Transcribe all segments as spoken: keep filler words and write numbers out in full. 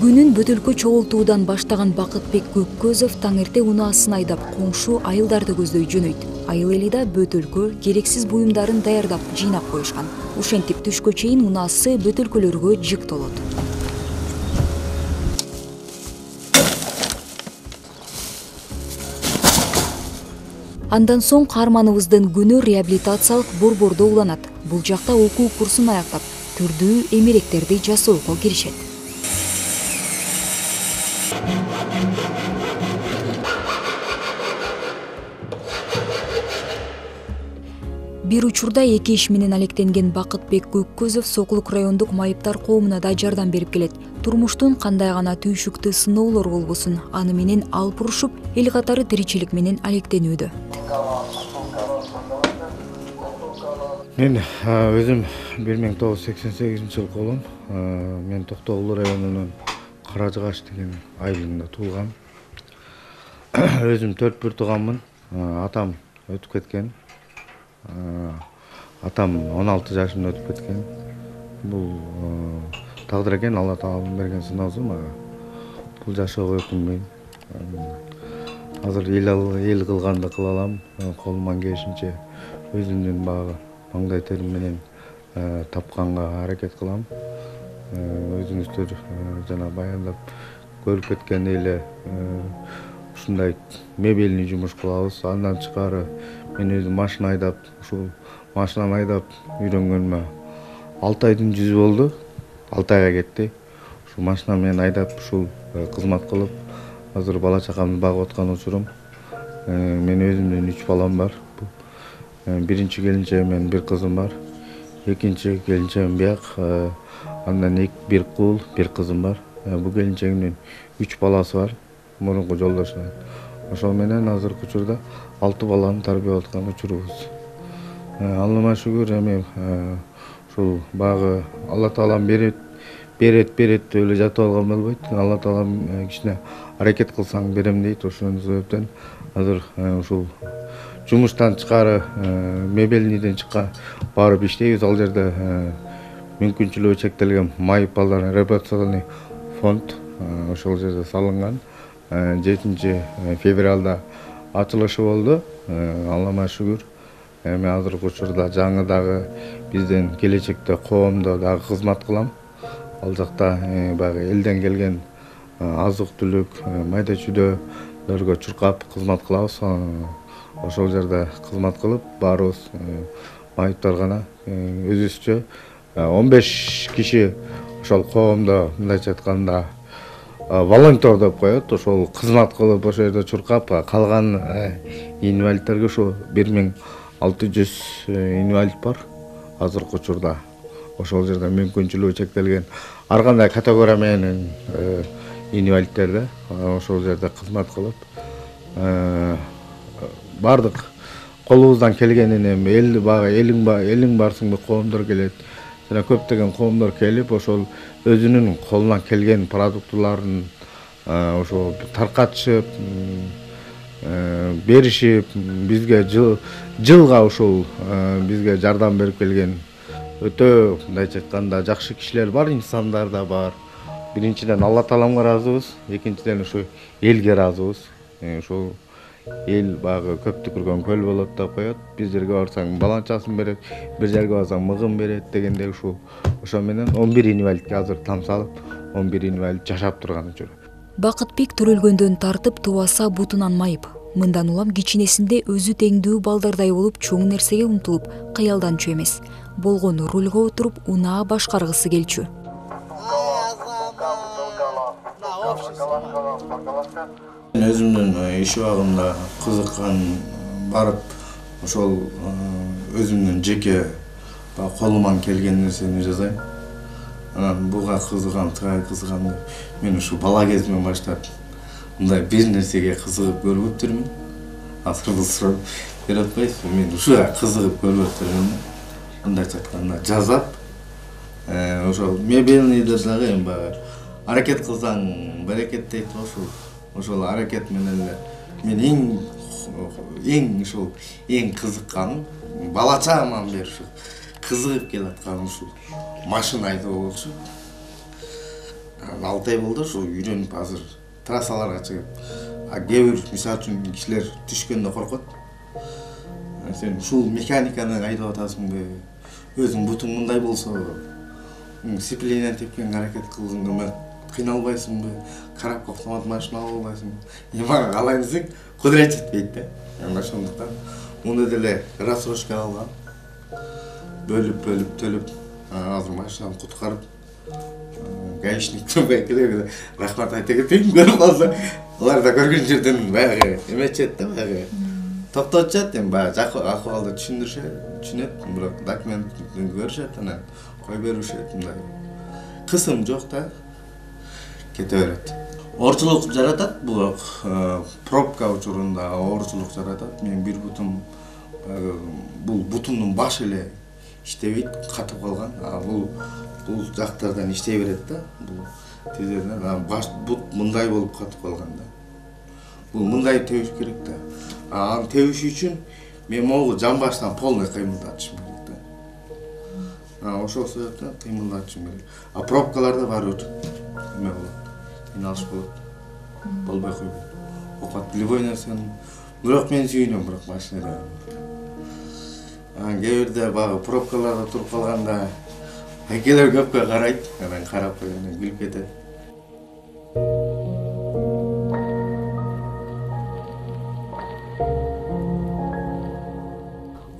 Күнүн бөтөлкө чогултуудан баштаган Бакытбек Көккөзов таң эрте унаасын айдап коңшу айылдарды көздөй жөнөйт. Айыл эли да бөтөлкө, керексиз буюмдарын даярдап жыйнап коюшкан. Ошентип түшкө чейин унаасы бөтөлкөлөргө жык толот. Андан соң каарманыбыздын күнү реабилитациялык борбордо уланат. Бул жакта окуу курсун аяктап, түрдүү эмеректерди жасоого киришет. Бир учурда эки иш менен алектенген Бакытбек Көккөзов Сокулук райондук майыптар коомуна да жардам берип келет. Турмуштун кандай гана түйшүктүү сыноолор болбосун, аны менен алып урушуп, эл катары тиричилик менен алектенүүдө. Мен өзүм бир миң тогуз жүз сексен сегизинчи жылы колум. Мен Токтогул районунун Кара Жыгач деген айылында туулгам. Өзүм төрт бир тууганмын. Атам өтүп кеткен. Атам он алты жашында өтүп кеткен. Бул тагдыр экен, Алла Тааланын берген сыноосу мага. Бул жашоого өкүнбөйм. Азыр эл эл кылганды кыла алам. Колуман келишинче өзүмдүн багы маңдай терим менен тапканга аракет кылам. Өзүңүздөр жана баяндап көрүп кеткен эле ушундай мебельный жумуш кылабыз. Андан тышкары мен өзүм машина айдап, ушул машинаны айдап үйрөнгөнүмө алты айдын жүзү болду. алты айга кетти. Ушул машина менен айдап ушул кызмат кылып, азыр бала чакамды багып аткан учурум. Мен өзүмдүн үч балам бар. Биринчи келинчегим менен бир кызым бар. Экинчи келинчегим бияк. Андан бир кул, бир кызым бар. Бул келинчегимдин үч баласы бар. Мурунку жолдошу. Ошол менен азыркы учурда алты баланы тарбиялап аткан учурубуз. Аллама шүгүр, эми ушул багы Алла Таалам берет, берет, берет деп эле жатып алган болбойт. Алла Таалам кичине аракет кылсаң берем дейт. Ошол себептен азыр ушул жумуштан тышкары мебельныйден чыкка барып иштейбиз. Ал жерде мүмкүнчүлүгү чектелген майып балдардын реабилитационный фонд ошол жерде салынган. жетинчи февралда ачылышы болду. Аллама шүгүр. Эми азыркы учурда жаңы дагы бизден келечекте коомдо дагы кызмат кылам. Ал жакта баягы элден келген азык-түлүк, майда чүйдөлөргө чуркап кызмат кылабыз. Ошол жерде кызмат кылып, баарыбыз майыптар гана өзүбүзчө он беш киши ошол коомдо мындайча айтканда волонтер деп коет. Ошол кызмат кылып, ошол жерде чуркап, калган инвалидтерге ошо бир миң алты жүз инвалид бар азыркы учурда. Ошол жерде мүмкүнчүлүгү чектелген ар кандай категория менен инвалидтерде ошол жерде кызмат кылып, бардык колубуздан келгенин эми эл бага элиң ба элиң барсың коомдор келет. Жана көптөгөн коомдор келип, ошол өзүнүн колунан келген продуктыларын ошо таркатышып, беришип, бизге жылга ушул бизге жардам берип келген өтө мындайча айтканда жакшы кишилер бар, инсандар да бар. Биринчиден Алла Тааламга ыраазыбыз, экинчиден ушу элге ыраазыбыз. Ошол эл багы көп түкүргөн көл болот деп коет. Бир жерге барсаң баланчасын берет, бир жерге барсаң мыгын берет дегендей ушул. Ошо менен он бир инвалидке азыр там салып, он бир инвалид жашап турган учур. Бакытбек төрөлгөндөн тартып тубаса бутунан майып. Мындан улам кичинесинде өзү теңдүү балдардай болуп чоң нерсеге умтулуп, кыялданчу эмес. Болгону рульга отуруп унаа башкаргысы келчү. Өзүмдүн иш убагымда кызыккан барып, ошол өзүмдүн жеке колуман келген нерсени жасайм. анан буга кызыгам, тыгай кызыгам. Мен ушу бала кезимден баштап мындай бир нерсеге кызыгып көрбөптүрмүн. Азыр бул суроо берип атпайсызбы? Мен ушуга кызыгып көрбөптүрмүн. Мындайча айтканда жазап, ошол мебельныйды дагы эми баягы аракет кылсаң берекет дейт ошол. Ошол аракет менен эле мен эң эң ушул эң кызыкканым балачагыман бери ушу кызыгып келатканым ушул машина айдоо болчу. алты ай болду ошо үйрөнүп азыр трассаларга чыгып. А кээ бир мисалы үчүн кишилер түшкөндө коркот. Сен ушул механиканы айдап атасыңбы? Өзүң бутуң мындай болсо, сцепление тепкенге аракет кылганда кыйналбайсыңбы? Коробка автомат машина алып албайсыңбы? Эми мага калай десең, кудурет жетпейт да. Эми ошондуктан муну деле рассрочка алгам. Бөлүп бөлүп төлөп, азыр машинаны куткарып, гаишниктин байкелерге рахмат айта кетейин. Көрүп калса, алар да көргөн жерден баягы эметчет да, баягы токтотушат, эми баягы жакшы акыбалды түшүндүрүшөт, түшүнөт, бирок документин көрүшөт, анан кой беришет, мындай. Кысым жок да, кете берет. Оорчулук жаратат, бул пробка учурунда оорчулук жаратат. Мен бир бутум, бул бутумдун башы эле иштебейт, катып калган. А бул бул жактардан иштей берет да, бул тизерден баш бут мындай болуп катып калган да. Бул мындай тебиш керек да. А аны тебиш үчүн мен могу жамбаштан полный кыймылдатышым керек да. А ошол себептен кыймылдатышым керек. А пробкаларда баары бир эме болот. Иналыш болот. Болбой койбойт. Окат любой нерсени. Бирок мен сүйүнөм бирок машинада. Анан кээ бирде баягы пробкаларда туруп калганда айкелер көпкө карайт, анан карап койгондон күлүп кетет.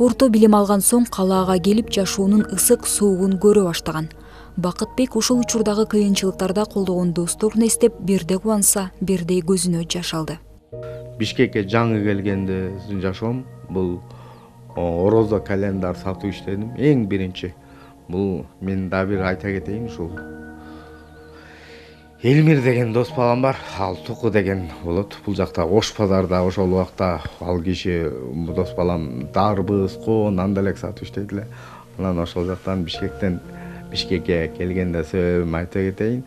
Орто билим алган соң калаага келип жашоонун ысык суугун көрө баштаган. Бакытбек ушул учурдагы кыйынчылыктарда колдогон досторун эстеп, бирде кубанса, бирде көзүнө жаш алды. Бишкекке жаңы келгенде жашоом бул орозо календар сатып иштедим. Эң биринчи бул мен да бир айта кетейин, ушул Элмир деген дос балам бар, ал Туку деген болот. Бул жакта Ош базарда ошол убакта ал киши дос балам дарбыз, коон, анда элек сатып иштейт эле. Анан ошол жактан Бишкектен Бишкекке келгенде себебим айта кетейин.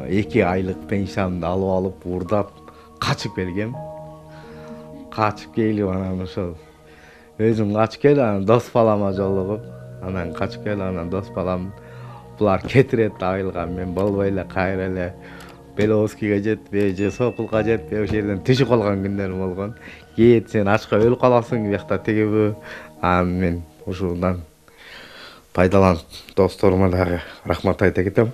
эки айлык пенсиямды алып алып, урдап, качып келгем. Качып келип анан ошол өзүм качып келип, анан дос балама жолугуп, анан качып келип, анан дос балам булар кетирет айылга, мен болбой эле кайра эле Беловскийге жетпей, же Сокулга жетпей ошол жерден түшүп калган күндөрүм болгон. Кет сен ачка өлүп каласың, биякта тигиби. Анан мен ушундан пайдаланып досторума дагы рахмат айта кетем.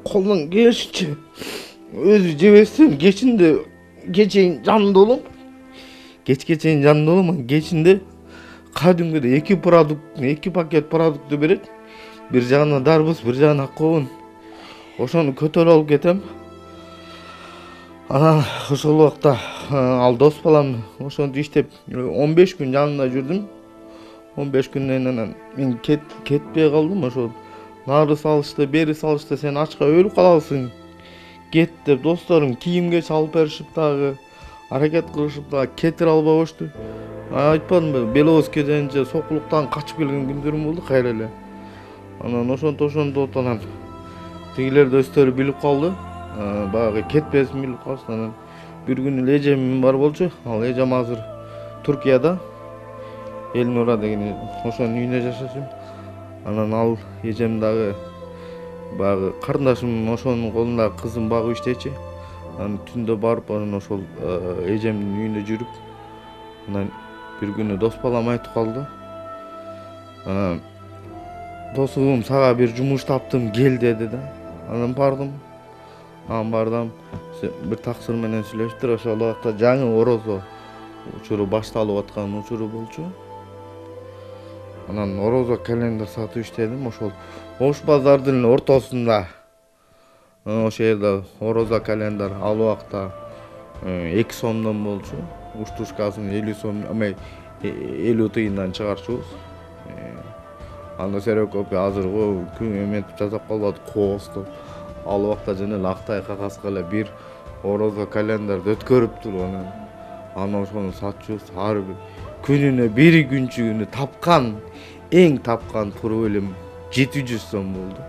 Колдон келишинче өзү жебестен кечинде кечейин жанында болом. Кечке чейин жанында болом, кечинде кадимгидей эки продукт, эки пакет продукту берет. Бир жагына дарбыз, бир жагына коон. Ошону көтөрүп алып кетем. Анан ошол убакта ал дос балам ошону иштеп он беш күн жанында жүрдүм. он беш күндөн анан мен кет кетпей калдым. Ошол нары салышты, бери салышты, сен ачка өлүп каласың. Кет деп досторум кийимге чалып беришип дагы, аракет кылышып дагы кетире албай коюшту. Айтпадымбы, Беловскийден же Сокулуктан качып келген күндөрүм болду кайра эле. Анан ошонто ошондо анан тигилер да өздөрү билип калды. Баягы кетпесин билип калышты. Анан бир күнү эжем бар болчу. Ал эжем азыр Туркияда. Элнура деген ошонун үйүндө жашашым. Анан ал эжем дагы баягы карындашым ошонун колунда кызым багып иштечи. Анан түндө барып анан ошол эжемдин үйүндө жүрүп, анан бир күнү дос балам айтып калды. Досум, сага бир жумуш таптым, кел деди да. Анан бардым. Анан бардым. Бир таксыр менен сүйлөштүр. Ошол убакта жаңы орозо учуру башталып аткан учуру болчу. Анан орозо календар сатып иштедим. Ошол Ош базардын ортосунда ошол жерде орозо календар ал убакта эки сомдон болчу. Уштушкасын элүү сом, эме элүү тыйындан чыгарчубуз. Анда серокопи азыркы күн эметип жасап калбадык, кооздоп. Ал убакта жана эле актай кагазга эле бир орозо календарды өткөрүп туруп анан аны ошону сатчубуз. Ар бир күнүнө бир күнчүгүнө тапкан, эң тапкан пуру элем жети жүз сом болду.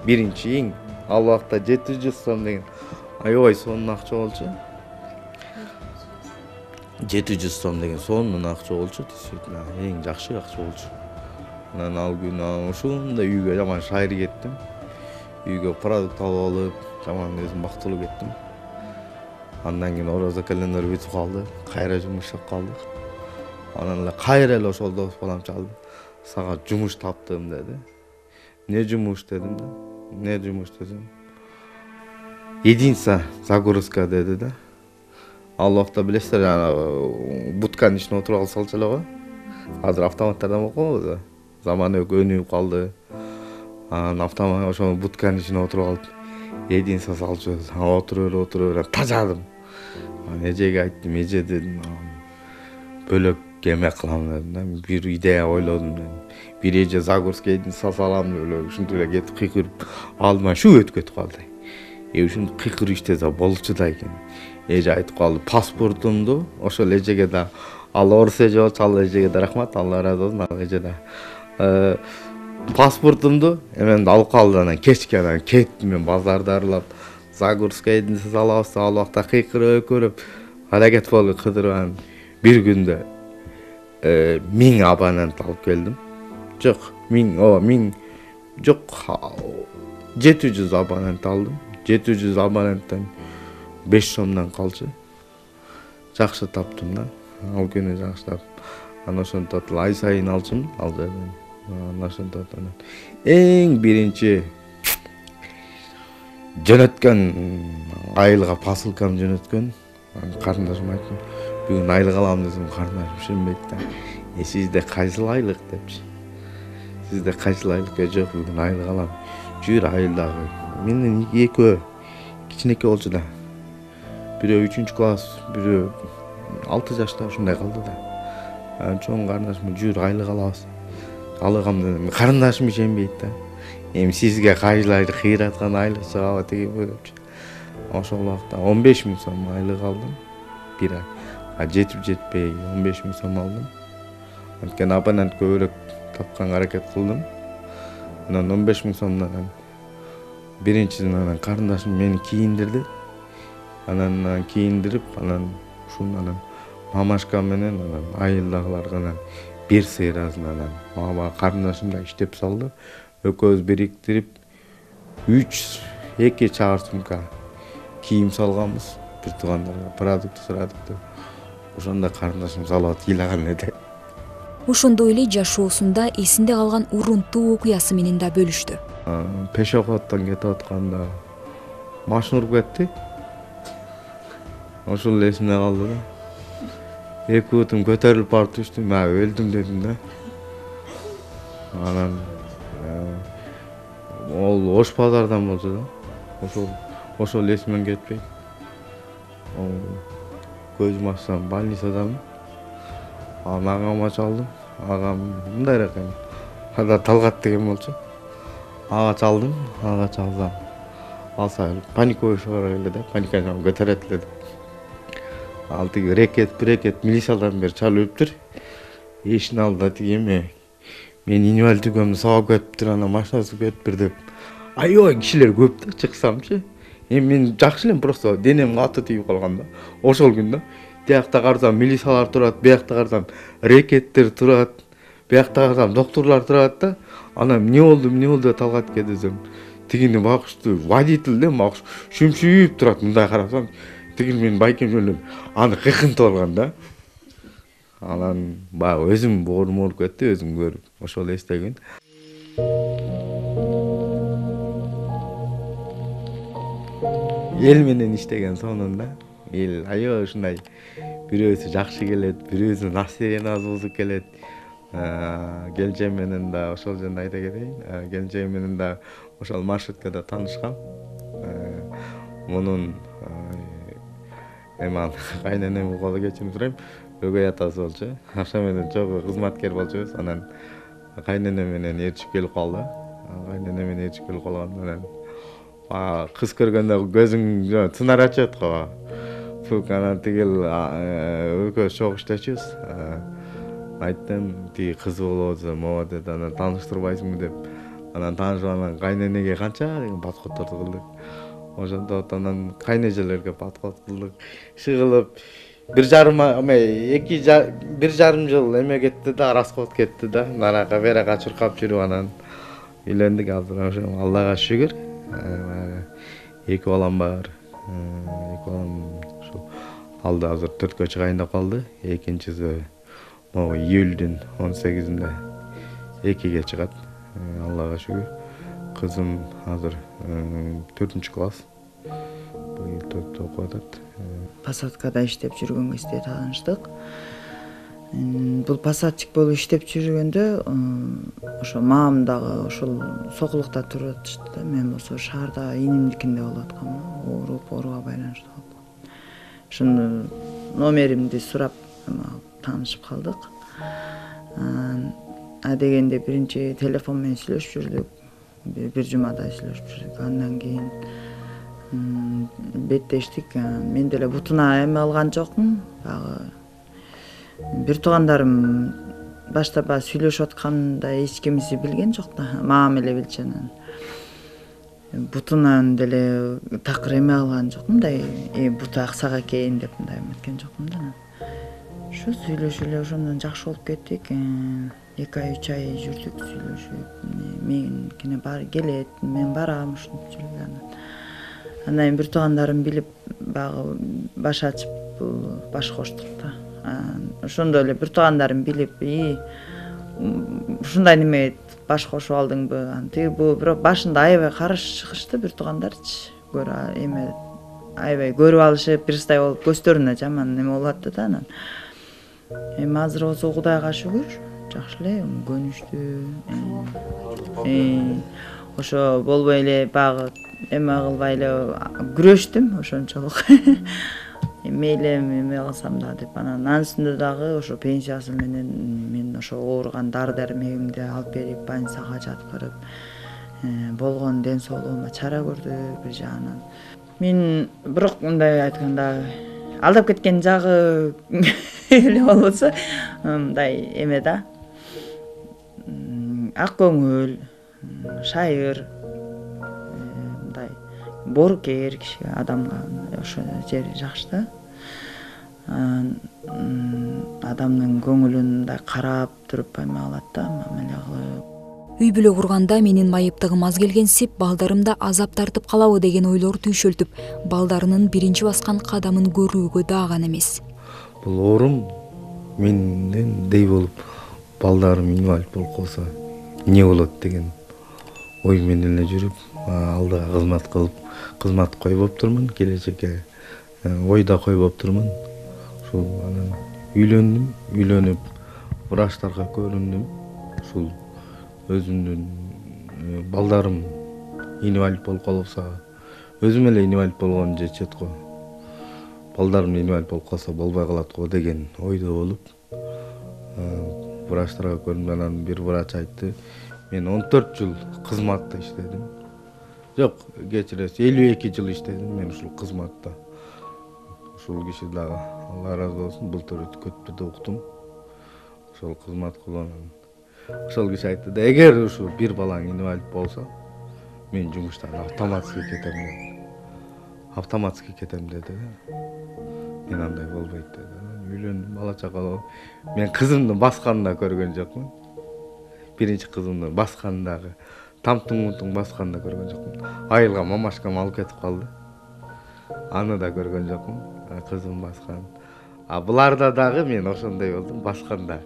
Биринчи эң ал убакта жети жүз сом деген аябай сонун акча болчу. жети жүз сом деген сонун акча болчу, действительно эң жакшы акча болчу. Анан ал күнү ошондой үйгө жаман шайыр кеттим. Үйгө продукт алып алып, жаман өзүм бактылуу кеттим. Андан кийин орозо календар бүтүп калды, кайра жумуш иштеп калдык. Анан эле кайра эле ошол дос балам чалды. Сага жумуш таптым деди. Не жумуш дедим да. Не жумуш десем. Единица загрузка деди да. Ал убакта билесиздер, ана будканын ичине отуруп алсалчу эле го. Азыр автоматтардан болуп калбайбы? Заманы өнүгүп калды. Анан автомат ошол будканын ичине отуруп алып, единица салчубуз. Отуруп отуруп тажадым. Анан эжеге айттым, эже дедим, бөлөк эме кылам дедим да. Бир идея ойлодум дедим. Бир эже загрузка единица салам деп эле ушинтип эле кетип кыйкырып алдыма шу өтүп кетип калды. Э ушинтип кыйкырып иштесе болчу да экен. Эже айтып калды, паспортумду ошол эжеге да, ал орус эже болчу, ал эжеге да рахмат, Алла ыраазы болсун, ал эже да. Паспортумду эменди алып калды. Анан кечке анан кеттим мен базарды аралап, загрузка единица салабыз, ал убакта кыйкырып көрүп, аракет болуп кыдырып анан бир күндө миң абонент алып келдим. Жок, миң, о, миң, жок, жети жүз абонент алдым. жети жүз абоненттен беш сомдон калчу. Жакшы таптым да. Ал күнү жакшы таптым. Анан ошентип ай сайын алчумун, ал жерден. Анан ошентип анан эң биринчи жөнөткөн айылга посылкам жөнөткөн. Карындашыма айттым, бүгүн айлык алам десем, карындашым ишенбейт да. Э сизде кайсыл айлык депчи. Сизде кайсыл айлык? Жок, бүгүн айлык алам. Жүр айылдагы. Менден экөө кичинекей болчу да. Бирөө үчүнчү класс, бирөө алты жашта ушундай калды да. Анан чоң карындашым жүр айлык алабыз. Алыгам дедим. Карындашым ишенбейт да. Эми сизге кайсыл айлык кыйраткан айлык чыгабы тегиби депчи. Ошол убакта он беш миң сом айлык алдым. Бир ай. А жетип жетпей он беш миң сом алдым. Анткени абонент көбүрөөк тапканга аракет кылдым. Анан он беш миң сомдон биринчиден анан карындашым мени кийиндирди. Анан кийиндирип, анан ушуну анан мамашка менен анан айылдагыларга анан бир сыйрасын анан мама карындашым да иштеп салды. Экөөбүз бириктирип үч эки чабар сумка кийим салганбыз. Бир туугандарга продукт сурадык деп. Ошондо карындашым салып ыйлаган эле. Ошондой эле жашоосунда эсинде калган урунттуу окуясы менен да бөлүштү. Пешоходдон кетип атканда машина уруп кетти. Ошол эле эсимде калды да. Эки бутум көтөрүлүп барып түштүм, мен өлдүм дедим да. Анан ол Ош базардан болчу да. Ошол ошол эсимден кетпейт. Көзүм ачсам больницадамын. Анан агама чалдым. Агам мындай экен. Ада Талгат деген болчу. Ага чалдым, ага чалсам. Алса паникой шыгара эле да, паниканы көтөрөт эле. Ал тиги рекет, брекет милициялардан бери чалып өптүр. Эшин алдыда тиги эме. Мен инвалидтигимди сабап кетиптир, анан машинасы кетиптир деп. Аябай кишилер көп да, чыксамчы. Эми мен жакшы элем, просто денем катты тийип калган да. Ошол күндө биякта карасам милициялар турат, биякта карасам рекеттер турат, биякта карасам докторлор турат да. Анан эмне болду, эмне болду деп Талгатка десем, тигини багыштуу водитель да, багыш шүмшүйүп турат, мындай карасам, тигини менин байкем эле аны кыйкынтып алган да. Анан баягы өзүм боорум ооруп кетти, өзүм көрүп, ошол эстегин. Эл менен иштеген сонунда, эл аябай ушундай бирөөсү жакшы келет, бирөөсү настроениябыз бузуп келет. келинчегим менен да ошол жөнүндө айта кетейин. Келинчегим менен да ошол маршруткада таанышкам. Мунун эми кайненеми колу кечирип сурайм, өгөй атасы болчу. Ошо менен чогуу кызматкер болчубуз. Анан кайнене менен ээрчип келип калды. Кайнене менен ээрчип келип калган менен кыз көргөндө көзүң сынар ачат го. Фук анан тигил экөөбүз чогуу иштечүбүз. Айттым, тиги кыз болобу, могу деди, анан тааныштырбайсыңбы деп. Анан таанышып анан кайненеге канча деген подходторду кылдык. Ошондо анан кайнежелерге подход кылдык. Иши кылып бир жарым эме эки бир жарым жыл эме кетти да, расход кетти да. Наракка беракка чуркап жүрүп анан үйлөндүк. Азыр ошо Аллага шүгүр. Эки балам бар. Эки балам ошо алды азыр төрткө чыгайын деп калды. Экинчиси могу июлдун он сегизинде экиге чыгат. Аллага шүгүр. Кызым азыр төртүнчү класс. Быйыл төрттө окуп атат. Посадкада иштеп жүргөн кезде тааныштык. Бул посадчик болуп иштеп жүргөндө ошо маам дагы ошол Сокулукта туруп атышты да. Мен болсо шаарда инимдикинде болуп аткам. Ооруп, ооруга байланыштуу калып. Ошондо номеримди сурап таанышып калдык. А дегенде биринчи телефон менен сүйлөшүп жүрдүк. Бир жумадай сүйлөшүп жүрдүк. Андан кийин беттештик. Мен деле бутуна эме алган жокмун. Багы бир туугандарым башта баягы сүйлөшүп атканда эч кимиси билген жок да. Маам эле билчү анан. Бутунан деле такыр эме алган жокмун, мындай буту аксак экен деп мындай эметкен жокмун да. Ошо сүйлөшүп эле ошондон жакшы болуп кеттик. эки ай үч ай жүрдүк сүйлөшүп. Меникине бар келет, мен барам ушинтип жүрдүк анан. Андан кийин бир туугандарым билип багы баш ачып баш коштук да. Ошондо эле бир туугандарым билип, "И, ушундай неме баш кошуп алдыңбы?" Аны тиги бу бирок башында аябай каршы чыгышты бир туугандарчы. Көрө эме аябай көрүп алышып, пирстай болуп көздөрүнө жаман неме болуп атты да анан. Эми азыр болсо Кудайга шүгүр, жакшы эле, көнүштүү. Ошо болбой эле багы эме кылбай эле күрөштүм ошончолук. Мейли эме кылсам да деп анан анын үстүндө дагы ошо пенсиясы менен мен ошо ооруган дары дармегимди алып берип, больницага жаткырып, болгон ден соолугума чара көрдү бир жагынан. Мен бирок мындай айтканда алдап кеткен жагы эле болбосо мындай эме да. Ак көңүл, шайыр, мындай боорукер киши адамга ошо жери жакшы да. Адамдын көңүлүн мындай карап туруп эме кылат да, мамиле кылып. Үй бүлө курганда менин майыптыгым аз келгенсип, балдарымда азап тартып калабы деген ойлор түйшөлтүп, балдарынын биринчи баскан кадамын көрүүгө дааган эмес. Бул оорум менден дей болуп, балдарым инвалид болуп калса эмне болот деген ой менен эле жүрүп, алдыга кызмат кылып, кызмат койбоп турмун, келечекке ойда койбоп турмун. Ушул анан үйлөндүм, үйлөнүп врачтарга көрүндүм. Ушул өзүмдүн балдарым инвалид болуп калса, өзүм эле инвалид болгонум жетет го. Балдарым инвалид болуп калса болбой калат го деген ойдо болуп, врачтарга көрүндүм. Анан бир врач айтты, мен он төрт жыл кызматта иштедим. Жок, кечиресиз, элүү эки жыл иштедим мен ушул кызматта. Ушул киши дагы Алла ыраазы болсун, былтыр өткөттү уктум. Ошол кызмат кылган. Ошол киши айтты да, эгер ушу бир балаң инвалид болсо, мен жумуштан автоматский кетем деди. Автоматский кетем деди. Мен андай болбойт деди. Үйлөндүм, бала чакалуу. Мен кызымды басканда көргөн жокмун. Биринчи кызымды баскандагы, тамтың-мунтың басканда көргөн жокмун. Айылга мамашкам алып кетип калды. Аны да көргөн жокмун. Кызым баскан. А буларда дагы мен ошондой болдум, басканда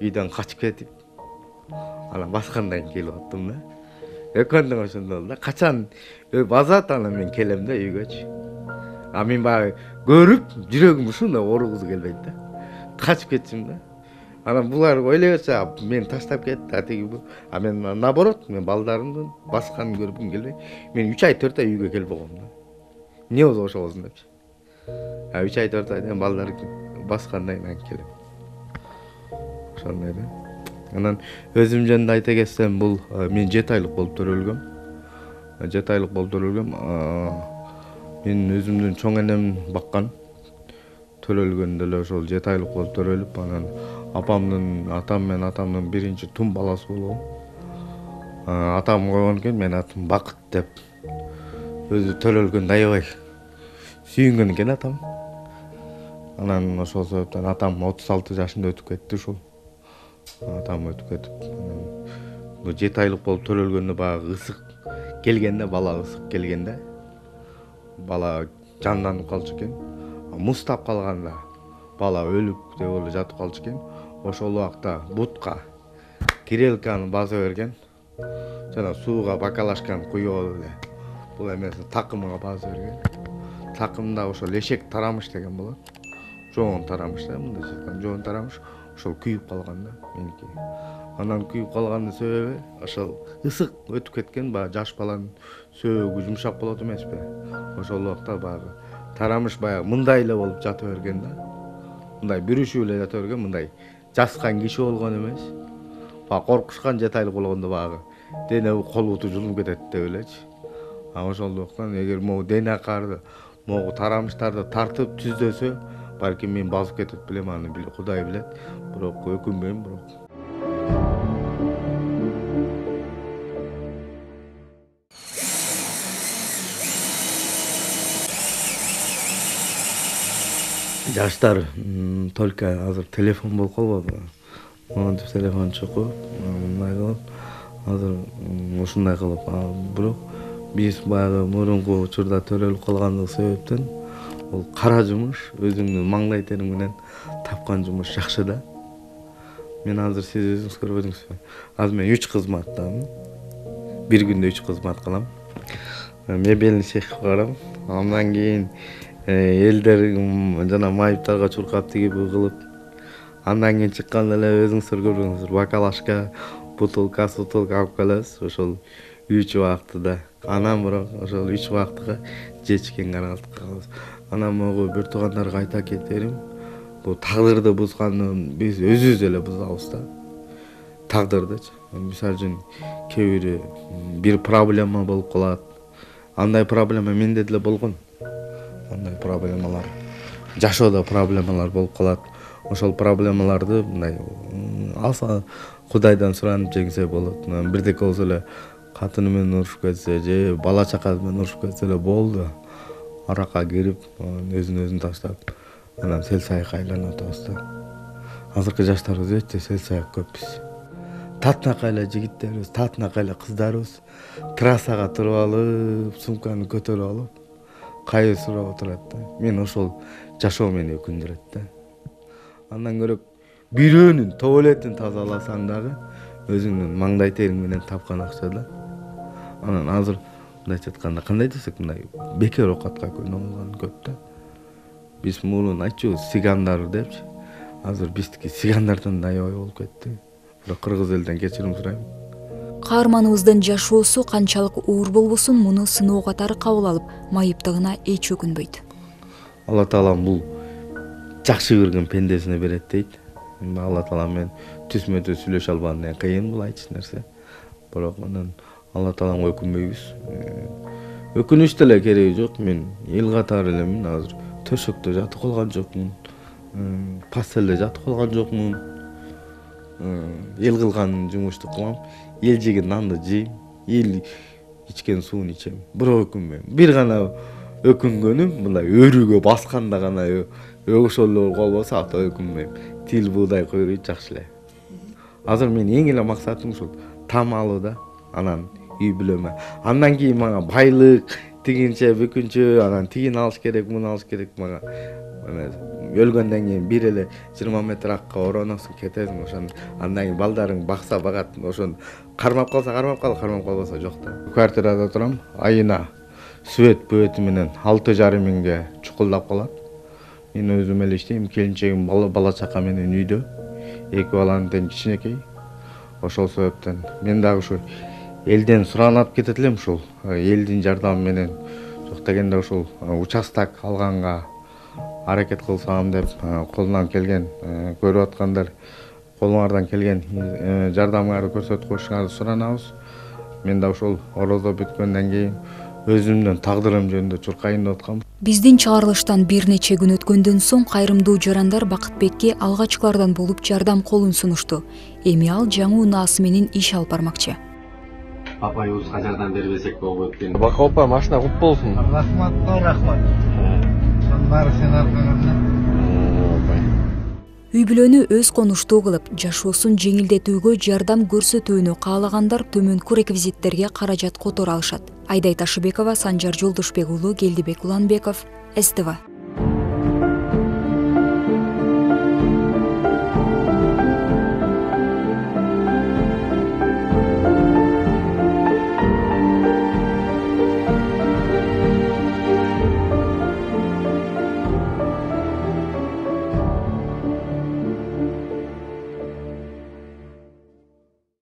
үйдөн качып кетип, анан баскандан кийин келип аттым да. Экөөндөн ошондой болду да. Качан базат анан мен келем да үйгөчү. А мен баягы көрүп, жүрөгүм ушундай ооругусу келбейт да. Качып кетчим да. Анан булар ойлойбурса мени таштап кетти, а тиги а мен наоборот, мен балдарымдын басканын көргүм келбей, мен үч ай төрт ай үйгө келбегом да. Эмне болду ошобосун депчи. А үч ай төрт айдан балдар баскандан кийин келем. Ошондой да. Анан өзүм жөнүндө айта кетсем, бул мен жети айлык болуп төрөлгөм. жети айлык болуп төрөлгөм. Мен өзүмдүн чоң энем баккан. Төрөлгөндө эле ошол жети айлык болуп төрөлүп, анан апамдын, атам менен атамдын биринчи тум баласы болгом. Атам койгон экен, мен атым Бакыт деп. Өзү төрөлгөндө аябай сүйүнгөн экен атам. Анан ошол себептен атам отуз алты жашында өтүп кетти ушул. Атам өтүп кетип, бул жети айлык болуп төрөлгөндө баягы ысык келгенде, бала ысык келгенде, бала жанданып калчу экен. Муздап калганда бала өлүп деп эле жатып калчу экен. Ошол убакта бутка кирелканы баса берген. Жана сууга бакалашканы куюп эле бул эмесин такымга баса берген. Такымда ошол эшек тарамыш деген болот. Жоон тарамыш да, мындай чыккан жоон тарамыш. Ошол күйүп калган да меники. Анан күйүп калгандын себеби ошол ысык өтүп кеткен, баягы жаш баланын сөөгү жумшак болот эмеспи? Ошол убакта баягы тарамыш баягы мындай эле болуп жата берген да. Мындай бүрүшүп эле жата берген, мындай жаскан киши болгон эмес. Баягы коркушкан жети айлык болгондо баягы дене кол буту жылынып кетет деп элечи. А ошондуктан эгер могу дене карды, могу тарамыштарды тартып түздөсө, балким мен басып кетет билем, аны Кудай билет. Бирок өкүнбөйм, бирок. Жаштар только азыр телефон болуп калбады. Монтип телефон чукуп, мындай кылып, азыр ушундай кылып, бирок биз баягы мурунку учурда төрөлүп калгандык себептен бул кара жумуш, өзүңдүн маңдай териң менен тапкан жумуш жакшы да. Мен азыр сиз өзүңүз көрбөдүңүзбү? Азыр мен үч кызматтамын. Бир күндө үч кызмат кылам. Мебелни цех барам. Андан кийин элдер жана майыптарга чуркап тигип кылып, андан кийин чыкканда эле өзүңүздөр көрдүңүздөр, бакалашка, бутылка, сутулка алып келебиз. Ошол үч убактыда. Анан бирок ошол үч убактыга жечкен караалтыкка калабыз. Анан могу бир туугандарга айта кетерим, бул тагдырды бузганды биз өзүбүз эле бузабыз да. Тагдырдычы. Мисалы үчүн кээ бири бир проблема болуп калат. Андай проблема менде деле болгон. Андай проблемалар, жашоодо проблемалар болуп калат. Ошол проблемаларды мындай алса Кудайдан суранып жеңсе болот. Бирдеке болсо эле катыны менен урушуп кетсе же бала чакасы менен урушуп кетсе эле болду. Аракка кирип, өзүн өзүн таштап, анан сел саякка айланып атабыз да. Азыркы жаштарыбыз өтө сел саяк көп биз. Татынакай эле жигиттерибиз, татынакай эле кыздарыбыз трассага туруп алып, сумканы көтөрүп алып, кайыр сурап отурат да. Мен ошол жашоо мени өкүндүрөт да. Андан көрөк бирөөнүн туалетин тазаласаң дагы өзүңдүн маңдай териң менен тапкан акча да. Анан азыр мындайча айтканда кандай десек, мындай бекер оокатка күнөө болгон көп да. Биз мурун айтчу сигандар депчи. Азыр биздики сигандардан да аябай болуп кетти. Бирок кыргыз элден кечирим сурайм. Каарманыбыздын жашоосу канчалык оор болбосун, муну сыноо катары кабыл алып, майыптыгына эч өкүнбөйт. Алла Таалам бул жакшы көргөн пендесине берет дейт. Алла Таалам менен түзмө түз сүйлөшө албаган кыйын бул айтчу нерсе. Бирок анан Алла Тааламга өкүнбөйбүз. Өкүнүч деле кереги жок. Мен эл катары элемин, азыр төшөктө жатып калган жокмун. Пастелде жатып калган жокмун. Эл кылган жумушту кылам. Эл жеген нанды жейм. Эл ичкен сууну ичем. Бирок өкүнбөйм. Бир гана өкүнгөнүм мындай өрүгө басканда гана ошол эле болбосо ата өкүнбөйм. Тил буудай койройт жакшы эле. Азыр мен эң эле максатым ушул там алуу да. Анан үй бүлөмө. Андан кийин мага байлык, тигинче, бүкүнчө, анан тигин алыш керек, муну алыш керек мага. Өлгөндөн кийин бир эле жыйырма метр акка ороносуң, кетесиң, ошону андан кийин балдарың бакса багат, ошону кармап калса кармап кал, кармап калбаса жок да. Квартирада турам, айына свет бөтү менен алты жарым миңге чукулдап калат. Мен өзүм эле иштейм, келинчегим бала чака менен үйдө. эки баланын тең кичинекей. Ошол себептен мен дагы ушу элден суранып кетет элем, ушул элдин жардамы менен жок дегенде ушул участок алганга аракет кылсам деп колунан келген, көрүп аткандар колуңардан келген жардамыңарды көрсөтүп коюшуңарды суранабыз. Мен да ошол орозо бүткөндөн кийин өзүмдүн тагдырым жөнүндө чуркайын деп аткам. Биздин чыгарылыштан бир нече күн өткөндөн соң кайрымдуу жарандар Бакытбекке алгачкылардан болуп жардам колун сунушту. Эми ал жаңы унаасы менен иш алып бармакчы. Апайыбызга жардам бербесек болбойт экен. Бака апа, машина куп болсун. Рахмат, рахмат. Баары сен аркаңда. Үй бүлөнү өз конуштуу кылып, жашоосун жеңилдетүүгө жардам көрсөтүүнү каалагандар төмөнкү реквизиттерге каражат которо алышат. Айдай Ташыбекова, Санжар Жолдошбек уулу, Келдибек Уланбеков, С Т В.